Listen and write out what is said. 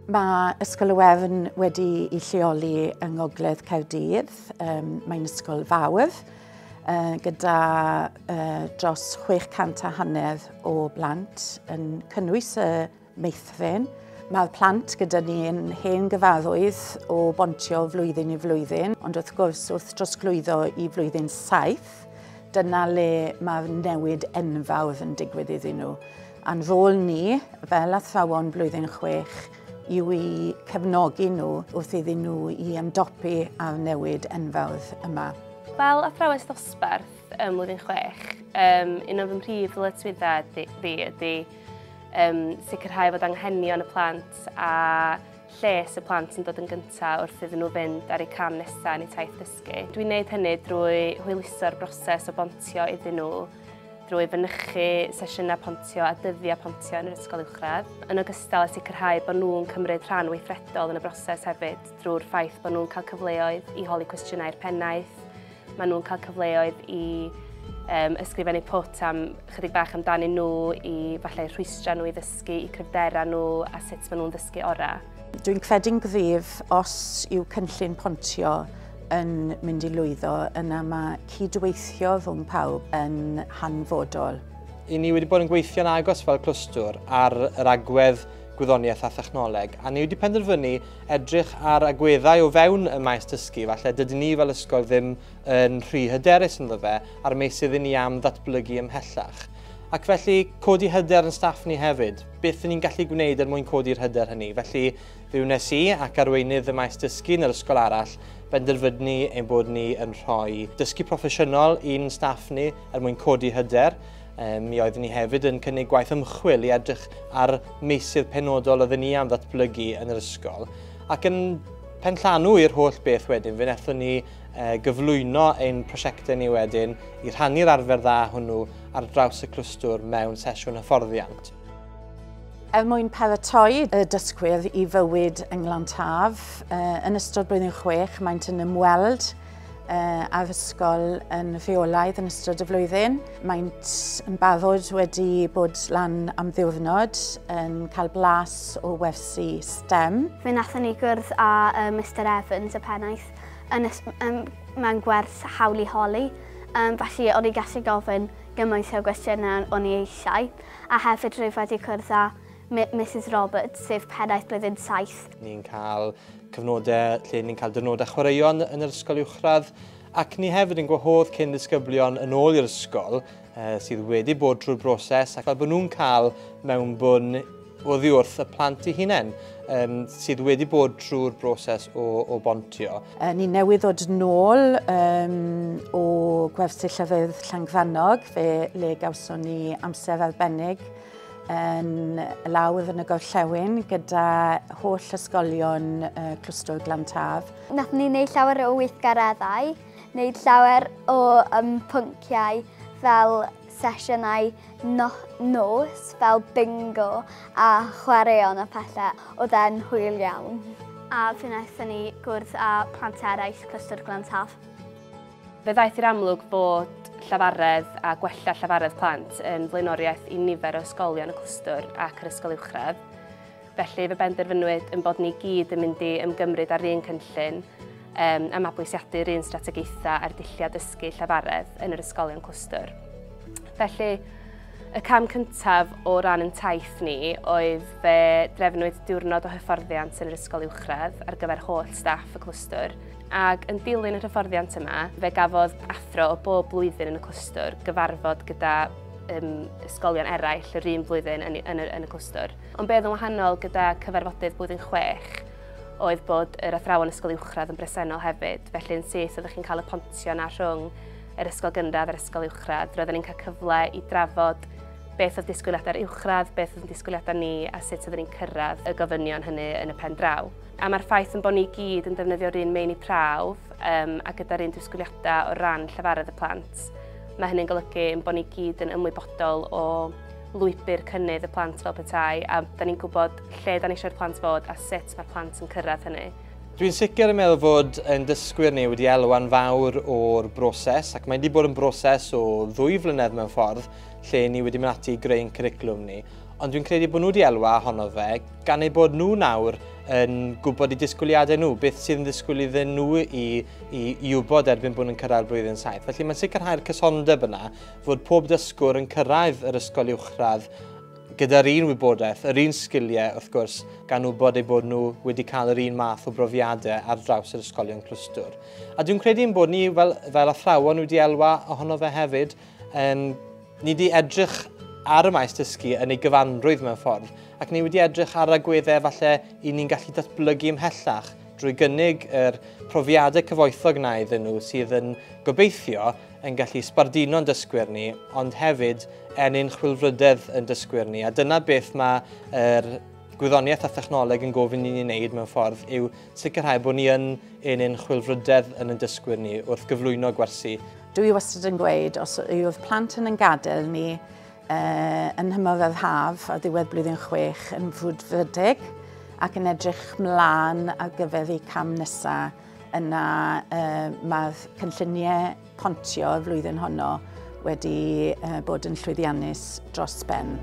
Mae Ysgol y Wern wedi ei lleoli yng Ngogledd Caerdydd. Mae'n ysgol fawr gyda dros 650 o blant yn cynnwys y meithrin. Mae'r plant gyda ni yn hen gyfarwydd o bontio flwyddyn i flwyddyn, ond wrth gwrs wrth drosglwyddo i flwyddyn 7, dyna le mae'r newid enfawr yn digwydd iddyn nhw. A'n rôl ni, fel athrawon blwyddyn 6, yw i cefnogi nhw wrth iddyn nhw i ymdopi â'r newid enfawr yma. Fel athrawes dosbarth ym mlwyddyn 6, un o fy mhrif ddyletswyddau fi ydy sicrhau fod anghenion y plant a lles y plant yn dod yn gyntaf wrth iddyn nhw fynd ar eu cam nesaf yn eu taith dysgu. Dwi'n gwneud hynny drwy hwyluso'r broses o bontio iddyn nhw, drwy fynychu sesiynau pontio a dyddiau pontio yn yr ysgol uwchradd, yn ogystal â sicrhau bod nhw'n cymryd rhan weithredol yn y broses hefyd drwy'r ffaith bod nhw'n cael cyfleoedd i holi cwestiynau i'r pennaeth, maen nhw'n cael cyfleoedd i ysgrifennu pwt am chydig bach amdanyn nhw, i falle rhwystrau nhw i ddysgu, i cryfderau nhw a sut maen nhw'n ddysgu orau. Dwi'n credu'n gryf os yw cynllun pontio yn mynd i lwyddo, yna mae cydweithio rhwng pawb yn hanfodol. I ni wedi bod yn gweithio'n agos fel clwstwr ar yr agwedd gwyddoniaeth a thechnoleg, a ni wedi penderfynu edrych ar agweddau o fewn y maes dysgu, falle dydyn ni fel ysgol ddim yn rhy hyderus ynddo fe, a'r meysydd ni am ddatblygu ymhellach. Ac felly, codi hyder yn staff ni hefyd. Beth ni'n gallu gwneud er mwyn codi'r hyder hynny? Felly, fe wnes i ac arweinydd y maes dysgu yn yr ysgol arall benderfynu ein bod ni yn rhoi dysgu proffesiynol i'n staff ni er mwyn codi hyder. Mi oeddwn ni hefyd yn cynnig gwaith ymchwil i edrych ar meysydd penodol oeddwn ni am ddatblygu yn yr ysgol. Ac yn penllanw i'r holl beth wedyn, fe wnaethon ni gyflwyno ein prosiectau ni wedyn i rhannu'r arfer dda hwnnw ar draws y clwstwr mewn sesiwn hyfforddiant. Er mwyn paratoi y dysgwyr i fywyd yng Nglan-Taf, yn ystod blwyddyn 6 maent yn ymweld â'r ysgol yn rheolaidd yn ystod y flwyddyn. Maent yn barod wedi bod lan am ddiwrnod yn cael blas o wersi STEM. Fe wnaethon ni gwrdd â Mr Evans, y pennaeth, mewn gwers hawl i holi. Felly o'n i gallu gofyn gymaint o gwestiynau o'n i eisiau. A hefyd rwyf wedi cwrdd â Mrs Roberts, sef pennaeth blwyddyn 7. Ni'n cael cyfnodau lle ni'n cael diwrnodau chwaraeon yn yr ysgol uwchradd, ac ni hefyd yn gwahodd cyn ddisgyblion yn ôl i'r ysgol sydd wedi bod drwy'r broses, ac fel bod nhw'n cael mewnbwn oddi wrth y plant eu hunain sydd wedi bod drwy'r broses o bontio. Ni newydd ddod nôl o gwersyll llefydd Llangrannog, fe le gawson ni amser arbennig yn lawr yn y gorllewin gyda holl ysgolion clwstwr Glan-Taf. Nathon ni wneud llawer o weithgareddau, wneud llawer o pynciau fel sesiynau nos, fel bingo a chwaraeon a pethau. Oedd e'n hwyl iawn. A fe wnaethon ni gwrdd â plant eraill clwstwr Glan-Taf. Fe ddaeth i'r amlwg bod llafaredd a gwella llafaredd plant yn flaenoriaeth i nifer o ysgolion y clwstwr ac yr ysgol uwchradd. Felly fe benderfynwyd yn bod ni gyd yn mynd i ymgymryd â'r un cynllun a mabwysiadu'r un strategaethau a'r dulliau dysgu llafaredd yn yr ysgolion clwstwr. Felly, y cam cyntaf o ran yn taith ni oedd fe drefnwyd diwrnod o hyfforddiant yn yr ysgol uwchradd ar gyfer holl staff y clwstwr. Ac yn dilyn yr hyfforddiant yma, fe gafodd athro o bob blwyddyn yn y clwstwr gyfarfod gyda ysgolion eraill yr un blwyddyn yn y clwstwr. Ond be oedd yn wahanol gyda cyfarfodydd blwyddyn 6 oedd bod yr athrawon ysgol uwchradd yn bresennol hefyd. Felly yn syth oeddech chi'n cael y pontio na rhwng yr ysgol gynradd a'r ysgol uwchradd. Roedden ni'n cael cyfle i drafod beth oedd disgwyliadau'r uwchradd, beth oedd disgwyliadau ni a sut oedden ni'n cyrraedd y gofynion hynny yn y pen draw. A mae'r ffaith yn bod ni gyd yn defnyddio'r un meini prawf a gyda'r un disgwyliadau o ran llafaredd y plant, mae hynny'n golygu ein bod ni gyd yn ymwybodol o lwybr cynnydd y plant fel petai, a da ni'n gwybod lle da ni eisiau'r plant fod a sut mae'r plant yn cyrraedd hynny. Dwi'n sicr yn meddwl fod ein dysgwyr ni wedi elwa'n fawr o'r broses, ac mae wedi bod yn broses o 2 flynedd mewn ffordd lle ni wedi mynd ati i greu'n cwricwlwm ni. Ond dwi'n credu bod nhw wedi elwa ohono fe, gan eu bod nhw nawr yn gwybod eu disgwyliadau nhw, beth sydd yn ddisgwyl iddyn nhw i wybod erbyn bod nhw'n cyrraedd blwyddyn 7. Felly mae'n sicrhau'r cysondeb yna fod pob dysgwr yn cyrraedd yr ysgol uwchradd gyda'r un wybodaeth, yr un sgiliau wrth gwrs, gan wybod eu bod nhw wedi cael yr un math o brofiadau ar draws yr ysgolion clwstwr. A dwi'n credu ein bod ni fel athrawon wedi elwa ohono fe hefyd. Ni wedi edrych ar y maes dysgu yn ei gyfanrwydd mewn ffordd, ac ni wedi edrych ar agweddau falle i ni'n gallu datblygu ymhellach drwy gynnig yr profiadau cyfoethog na iddyn nhw sydd yn gobeithio yn gallu sbarduno'n dysgwyr ni, ond hefyd ennyn chwilfrydedd yn dysgwyr ni. A dyna beth mae'r gwyddoniaeth a thechnoleg yn gofyn i ni wneud mewn ffordd yw sicrhau bod ni yn ennyn chwilfrydedd yn ein dysgwyr ni wrth gyflwyno gwersi. Dwi wastad yn gweud, os yw'r plant yn gadael ni yn nhymor yr haf a ddiwedd blwyddyn 6 yn frwdfrydig ac yn edrych mlaen ar gyfer eu cam nesaf, yna mae'r cynlluniau pontio y flwyddyn honno wedi bod yn llwyddiannus dros ben.